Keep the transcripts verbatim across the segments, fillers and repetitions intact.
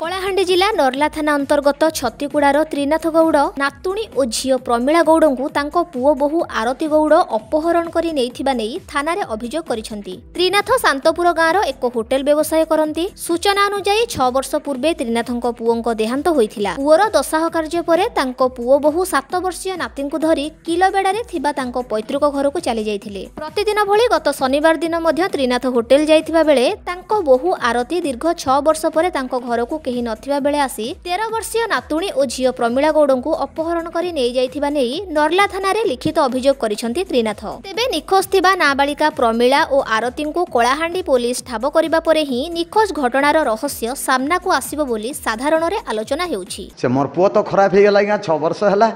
କଳାହାଣ୍ଡି ଜିଲ୍ଲା ନର୍ଲା ଥାନା ଅନ୍ତର୍ଗତ ଛତିକୁଡ଼ାର ତ୍ରିନାଥ ଗୌଡ଼ ନାତୁଣୀ ଓ ଝିଅ ପ୍ରମିଳା ଗୌଡ଼ଙ୍କୁ ତାଙ୍କ ପୁଅ ବୋହୂ ଆରତୀ ଗୌଡ଼ ଅପହରଣ କରି ନେଇଥିବା ନେଇ ଥାନାରେ ଅଭିଯୋଗ କରିଛନ୍ତି। ତ୍ରିନାଥ ଶାନ୍ତପୁର ଗାଁର ଏକ ହୋଟେଲ ବ୍ୟବସାୟ କରନ୍ତି। ସୂଚନା ଅନୁଯାୟୀ, ଛଅ ବର୍ଷ ପୂର୍ବେ ତ୍ରିନାଥଙ୍କ ପୁଅଙ୍କ ଦେହାନ୍ତ ହୋଇଥିଲା। ପୁଅର ଦଶାହ କାର୍ଯ୍ୟ ପରେ ତାଙ୍କ ପୁଅ ବୋହୂ ସାତ ବର୍ଷୀୟ ନାତିଙ୍କୁ ଧରି କିଲବେଡ଼ାରେ ଥିବା ତାଙ୍କ ପୈତୃକ ଘରକୁ ଚାଲିଯାଇଥିଲେ। ପ୍ରତିଦିନ ଭଳି ଗତ ଶନିବାର ଦିନ ମଧ୍ୟ ତ୍ରିନାଥ ହୋଟେଲ ଯାଇଥିବା ବେଳେ ତାଙ୍କ ବୋହୂ ଆରତୀ ଦୀର୍ଘ ଛଅ ବର୍ଷ ପରେ ତାଙ୍କ ଘରକୁ କେହି ନଥିବା ବେଳେ ଆସି ତେର ବର୍ଷୀୟ ନାତୁଣୀ ଓ ଝିଅ ପ୍ରମିଳା ଗୌଡ଼ଙ୍କୁ ଅପହରଣ କରି ନେଇଯାଇଥିବା ନେଇ ନର୍ଲା ଥାନାରେ ଲିଖିତ ଅଭିଯୋଗ କରିଛନ୍ତି ତ୍ରିନାଥ। ତେବେ ନିଖୋଜ ଥିବା ନାବାଳିକା ପ୍ରମିଳା ଓ ଆରତୀଙ୍କୁ କଳାହାଣ୍ଡି ପୋଲିସ ଠାବ କରିବା ପରେ ହିଁ ନିଖୋଜ ଘଟଣାର ରହସ୍ୟ ସାମ୍ନାକୁ ଆସିବ ବୋଲି ସାଧାରଣରେ ଆଲୋଚନା ହେଉଛି। ସେ ମୋର ପୁଅ ତ ଖରାପ ହେଇଗଲା ଆଜ୍ଞା, ଛଅ ବର୍ଷ ହେଲା।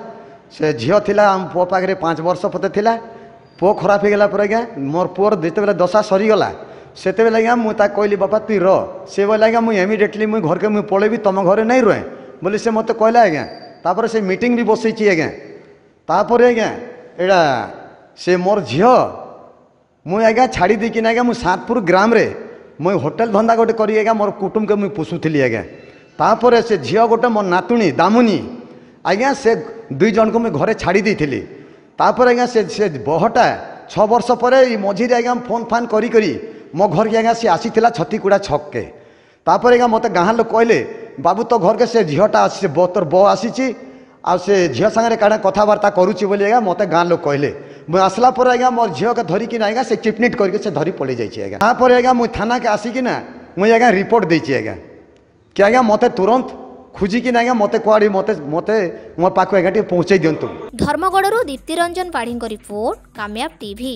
ସେ ଝିଅ ଥିଲା ଆମ ପୁଅ ପାଖରେ ପାଞ୍ଚ ବର୍ଷ ପତେ ଥିଲା। ପୁଅ ଖରାପ ହେଇଗଲା ପରେ ଆଜ୍ଞା, ମୋର ପୁଅର ଯେତେବେଳେ ଦଶା ସରିଗଲା, ସେତେବେଳେ ଆଜ୍ଞା ମୁଁ ତାକୁ କହିଲି, ବାପା ତୁଇ ର। ସେ ବୋଇଲା, ଆଜ୍ଞା ମୁଇଁ ଇମିଡ଼ିଏଟଲି ମୁଇଁ ଘରକେ ମୁଇଁ ପଳେଇବି, ତମ ଘରେ ନାଇଁ ରୁହେ ବୋଲି ସେ ମୋତେ କହିଲା ଆଜ୍ଞା। ତାପରେ ସେ ମିଟିଂ ବି ବସେଇଛି ଆଜ୍ଞା। ତାପରେ ଆଜ୍ଞା ଏଇଟା ସେ ମୋର ଝିଅ ମୁଇଁ ଆଜ୍ଞା ଛାଡ଼ି ଦେଇକିନା ଆଜ୍ଞା, ମୁଁ ସାତପୁର ଗ୍ରାମରେ ମୁଇଁ ହୋଟେଲ ଧନ୍ଦା ଗୋଟେ କରି ଆଜ୍ଞା ମୋର କୁଟୁମ୍ବକେ ମୁଇଁ ପୋଷୁଥିଲି ଆଜ୍ଞା। ତାପରେ ସେ ଝିଅ ଗୋଟେ, ମୋ ନାତୁଣୀ ଦାମୁନି ଆଜ୍ଞା, ସେ ଦୁଇ ଜଣଙ୍କୁ ମୁଇଁ ଘରେ ଛାଡ଼ି ଦେଇଥିଲି। ତାପରେ ଆଜ୍ଞା ସେ ସେ ବହଟା ଛଅ ବର୍ଷ ପରେ ଏଇ ମଝିରେ ଆଜ୍ଞା ଫୋନ୍ ଫାନ୍ କରି କରି ମୋ ଘରକେ ଆଜ୍ଞା ସେ ଆସିଥିଲା ଛତିକୁଡ଼ା ଛକକେ। ତାପରେ ଆଜ୍ଞା ମୋତେ ଗାଁ ଲୋକ କହିଲେ, ବାବୁ ତୋ ଘରକେ ସେ ଝିଅଟା ଆସିছে, ତୋର ବୋ ଆସିଛି ଆଉ ସେ ଝିଅ ସାଙ୍ଗରେ କାଣା କଥାବାର୍ତ୍ତା କରୁଛି ବୋଲି ଆଜ୍ଞା ମୋତେ ଗାଁ ଲୋକ କହିଲେ। ମୁଁ ଆସିଲା ପରେ ଆଜ୍ଞା ମୋର ଝିଅକେ ଧରିକିନା ଆଜ୍ଞା ସେ ଚିପନିଟ୍ କରିକି ସେ ଧରି ପଳେଇ ଯାଇଛି ଆଜ୍ଞା। ତାପରେ ଆଜ୍ଞା ମୁଇଁ ଥାନାକେ ଆସିକିନା ମୁଇଁ ଆଜ୍ଞା ରିପୋର୍ଟ ଦେଇଛି ଆଜ୍ଞା କି ଆଜ୍ଞା ମୋତେ ତୁରନ୍ତ ଖୋଜିକିନା ଆଜ୍ଞା ମୋତେ କୁଆଡ଼େ ମୋତେ ମୋତେ ମୋ ପାଖକୁ ଆଜ୍ଞା ଟିକେ ପହଞ୍ଚେଇ ଦିଅନ୍ତୁ। ଧର୍ମଗଡ଼ରୁ ଦୀପ୍ତିରଞ୍ଜନ ପାଢ଼ୀଙ୍କ ରିପୋର୍ଟ, କାମୟାବ ଟିଭି।